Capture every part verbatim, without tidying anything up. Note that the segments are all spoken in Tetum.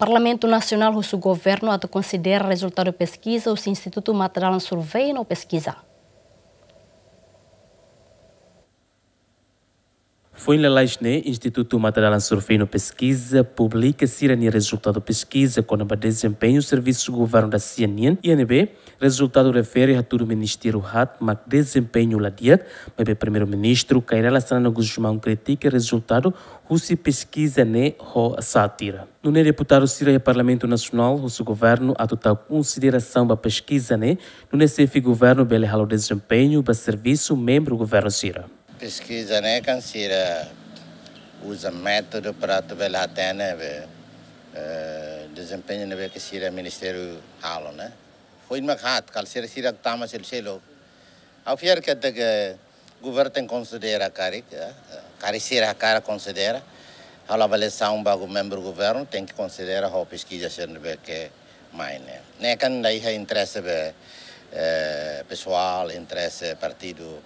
Parlamentu Nasionál husu governu atu konsidera rezultadu peskiza husi Institutu Matadalan Survey no Peskiza. Foin lalais ne'e, Institutu Matadalan Survey no Peskiza publika sira-nia rezultadu peskiza kona-ba dezempeñu servisu governu da sia nian, iha ne'ebé rezultadu refere hatudu ministériu haat mak dezempeñu la di'ak, maibé Primeiru-Ministru Kay Rala Xanana Gusmão kritika rezultadu husi peskiza ne'e ho sátira. Nune'e deputadu sira iha Parlamentu Nasionál husu governu atu tau konsiderasaun ba peskiza ne'e, nune'e xefe governu bele halo dezempeñu ba servisu membru governu sira. Peskiza ne'e kan sira uza métodu para atu bele hatene be, eh, dezempeñu ne'ebé ke sira ministériu halo ne'e. Foin mak haat, kal sira sira tama selu-selu. Ha'u fiar katak governu tenke konsidera karik, eh, karik sira hakarak konsidera. Halo avaliasaun ba membru governu, tenke konsidera ho peskiza sira ne'ebé ke mai ne'e. Ne'e kan la iha interese be, eh, pesoál, interese partidu.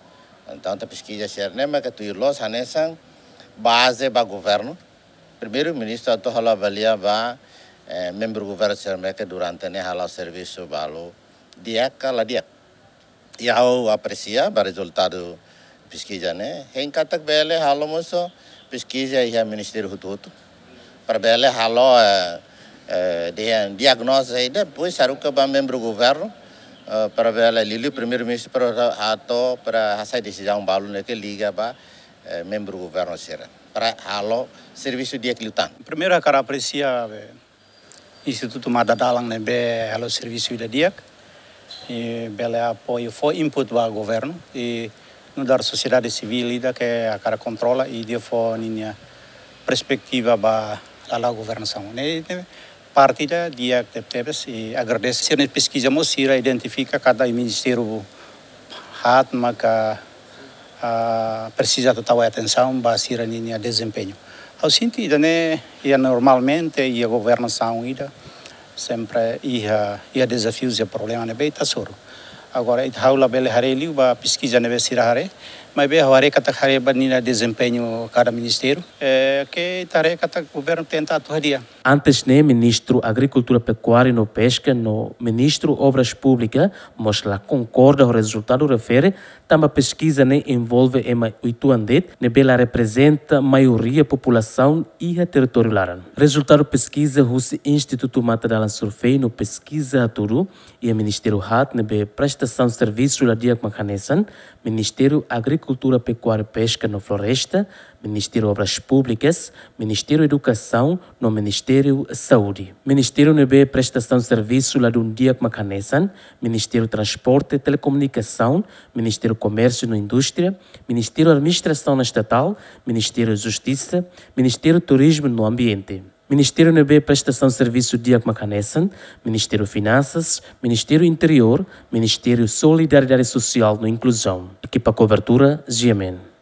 Entaun, peskiza sira ne'e mak tuir loos hanesan baze ba governu. Primeiru-Ministru atu halo avalia ba, eh, membru governu sira ne'ebé ke durante ne'e halo servisu balu di'ak ka la di'ak. I ha'u apresia ba rezultadu peskiza ne'e. Hein katak bele halo mós peskiza iha ministériu hotu-hotu. Para bele halo, eh, eh, dia-, diagnóze i depois haruka ba membru governu, eh, para bele liuliu Primeiru-Ministru para hato'o, para hasai desizaun balu ne'ebé ke liga ba, eh, membru governu sira. Para halo servisu di'ak liután. Primeiru, hakarak apresia, eh, Institutu Matadalan ne'ebé halo servisu ida di'ak, i bele apoiu fó input ba governu, i nu'udar sosiedade sivíl ida ke hakarak kontrola i nia fó ninia perspetiva ba hala'o governasaun. Ne'e, ne'e parte ida di'ak tebetebes, i agradese sira-nia peskiza mós sira identifika katak ministériu haat maka, ah, presiza atu tau atensaun ba sira-ninia dezempeñu. Ha'u sente ida-ne'e, iha normalmente, iha governasaun ida, sempre iha, iha dezafius, iha problema ne'ebé ita hasoru. Agora, ita, ha'u labele haree liu ba peskiza ne'ebé sira haree, maibé ha'u haree katak haree ba ninia dezempeñu kada ministériu, eh, ke ita haree katak governu tenta atu hadi'a. Antes ne'e, Ministru Agrikultura, Pekuária no Peska no Ministru Obras Públikas mós la konkorda ho rezultadu refere, tanba peskiza ne'e envolve ema uitoan de'it, ne'ebé la reprezenta maioria populasaun iha territóriu laran. Rezultadu peskiza husi Institutu Matadalan Survey no Peskiza hatudu, iha ministériu haat ne'ebé prestasaun servisu la di'ak mak hanesan, Ministériu Agrikultura, Pekuária, Peska no Floresta, Ministériu Obras Públikas, Ministériu Edukasaun no Ministériu Saúde. Ministériu ne'ebé prestasaun servisu ladún di'ak mak hanesan, Ministériu Transporte, Telekomunikasaun, Ministériu Komérsiu no Indústria, Ministériu Administrasaun Estatál, Ministériu Justisa, Ministériu Turizmu no Ambiente. Ministériu ne'ebé prestasaun servisu di'ak mak hanesan, Ministériu Finansas, Ministériu Interiór, Ministériu Solidariedade Sosiál no Inkluzaun. Ekipa kobertura, G M N.